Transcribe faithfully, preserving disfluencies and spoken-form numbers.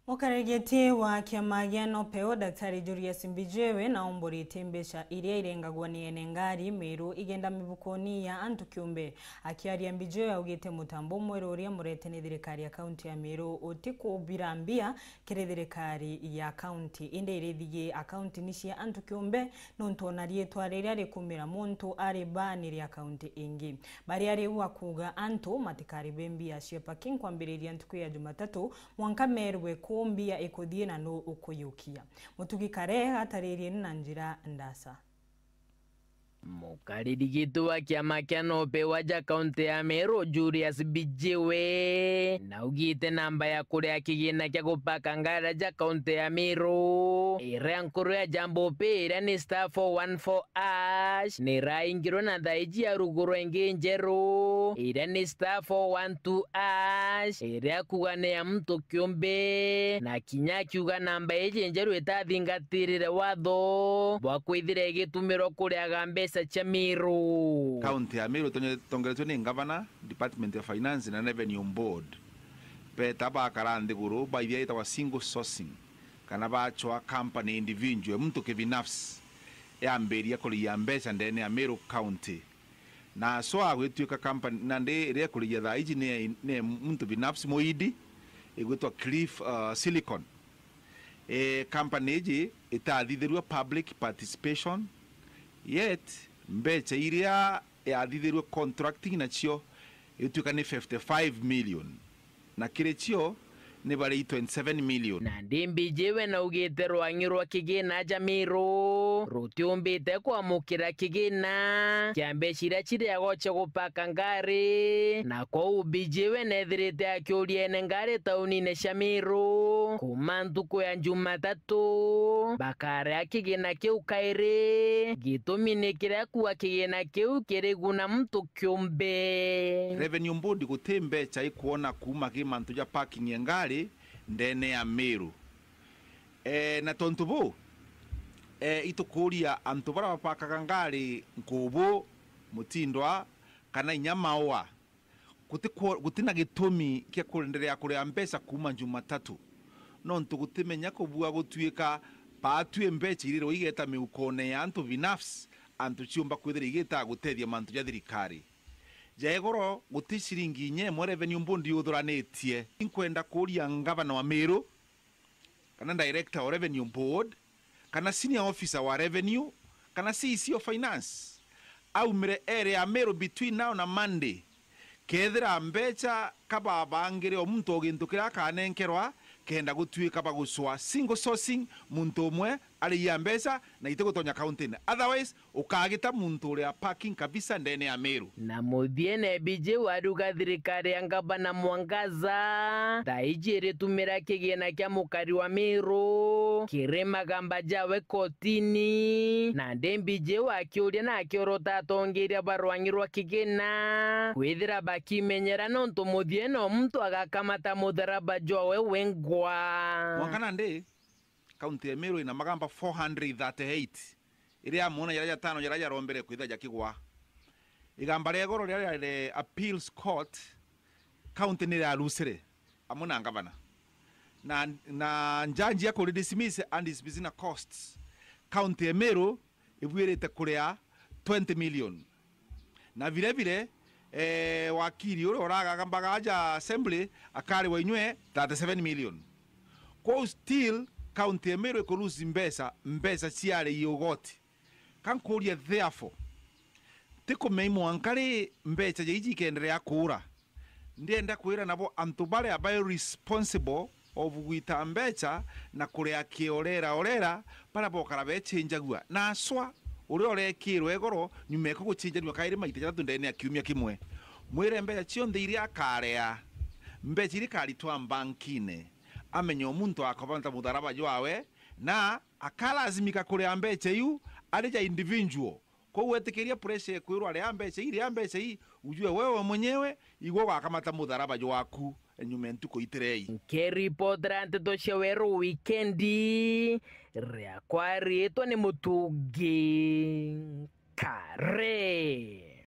Mukaregeti wa kiama gia NOPEU, Daktari Julius Mbijiwe, na omboritie mbeca iria irengagwa ni ene ngari Meru igenda mibukoni ya antu kiumbe. Akiaria, Mbijiwe augite mutambo mweru uria murete ni thirikari ya kaunti ya Meru utikubira mbia kiri thirikari ya kaunti, indi irithigie akaunti ni cia antu kiumbe, nontu ona riitwa riria rikumira muntu ari baanire akaunti ingi. Baria riu akuuga antu matikaribe mbia cia parking kwambiriria ntuku ya Jumatatu, mwanka merwe ku mbia ikuthii na nu ukuyukia. Mutugi Kare ataririe na njira ndasa. Mukariri gitu wa kiama kia NOPEU aja kaunti ya Meru, Julius Mbijiwe, naugite namba ya kuria kigina kia gupaka ngari aja kaunti ya Meru, iria nkuru ya Jambo Pay, iria ni star four one four hash, niraingirwe na thaiji ya ruguru ingi njeru, iria ni star four one two hash, iria kuuga ni ya muntu kiumbe, na kinya akiuga namba iji njeru itathingatirire watho bwa kwithira igitumirwa kuriaga mbeca cia Meru. Kaunti ya Meru itonye-, itongeretue ni ngavana, Department of Finance na Revenue Board, beta bakara nthiguru, baithia itagwa single sourcing, kana bachwa company individual, muntu kibinafsi, yambiria kuriia mbeca ndene ya Meru County. Na so agwituika company, na ndi iria ikuria thaa iji ni, ni muntu binafsi muindi, igwitwa Cliff, uh, Silicon. E, company iji itathithirue public participation, yet mbeca iria yathithirue contracting nacio igwituika ni fifty-five million. Na kiri cio ni bari twenty-seven million. Nandi Mbijiwe naugite rwang'i rwa kigina ja Meru rutiumbite kwamukira kigina kia mbeca iria ciriagwa cia gupaka ngari, na kwou Mbijiwe nethirite akiuria ene ngari taunine cia Meru kuuma ntuku ya Jumatatu bakarea kigina kiu kairi. Gitumi ni kiria kuuga kigina kiu kiriguna muntu kiumbe. Revenue Board guti mbeca ikwona kuuma ki mantu ja parking ya ngari ndene ya Meru. E, na tontu buu, e, itukuria antu baria bapakaga ngari Nkubu, Mutindwa, kana inya Maua, gutikwo-, gutina gitumi kia kuenderea kuria mbeca kuuma Jumatatu, nontu gutimenya kubua gutuika baatue mbeca irirwa igeta miukone ya antu binafsi, antu ciumba kwithira igita gutethia mantu ja thirikari. Ja igoro, guti ciringi inya imwe Revenue Board yuthuranitie. Inkwenda kuuria ngavana wa Meru, kana director wa Revenue Board, kana senior officer wa revenue, kana C E C of finance, aumire ere ya Meru between now na Monday, kethira mbeca kababangire o muntu o gintu kiria akanenkerwa, kenda gutuika bagucwa single sourcing, muntu umwe ariia mbeca na itigutonya kauntine. Otherwise, ukagita muntu uria parking kabisa ndene ya Meru. Na muthiene Mbijiwe ariuga thirikari ya ngavana Mwangaza thaa iji iritumira kigina kia mukari wa Meru kiri magamba jawe kotini, nandi Mbijiwe akiuria na akiorota atongeria ba rwang'i rwa kigina kwithira bakimenyera nontu muthiene o muntu agakamata mutharaba jwawe wengwa. Mwanka nandi, kaunti ya Meru ina magamba four hundred thirty-eight. Iria amwe na jaria jatano jaria jarombere kwithira jakigwa. Igamba ria igoro riria riari Appeals Court, county ni irarucire amwe na ngavana. Na, na njanji ya kuri dismiss and dismiss na costs, county ya Meru ibuirite kuria twenty million. Na vile vile, eh, wakiri uria uragagambaga aja assembly akariwa inywe thirty-seven million. Kwou still, county ya Meru iku lose mbeca, mbeca ciari i ugoti. Ka nkuuria therefore, tikumenya mwanka ri mbeca ja iji ikenderea kuura? Ndienda kwira nabo antu baria bai responsible of gwita mbeca na kuria kiorera orera, baria bokara bechenjagua. Na aswa, uria urekirwe igoro, nyuma eku guchenjanua kairi maita jathatu ndene ya kiumia kimwe. Mwire mbeca cionthe iria akarea, mbeca iria ikaritwa mbankine, amenye o muntu akoba ta mutharaba jwawe, na akalazimika kuria mbeca iu ari ja individual. Kwou wetikiria pressure ikwirwa, ria mbeca ii, ria mbeca ii, ujue wewe mwenyewe igwe ugakamata mutharaba jwaku nyuma ya ntuku itirei. Nkiripotera nteto cia Weru Wikendi, riakwa riitwa ni Mutungi Kare.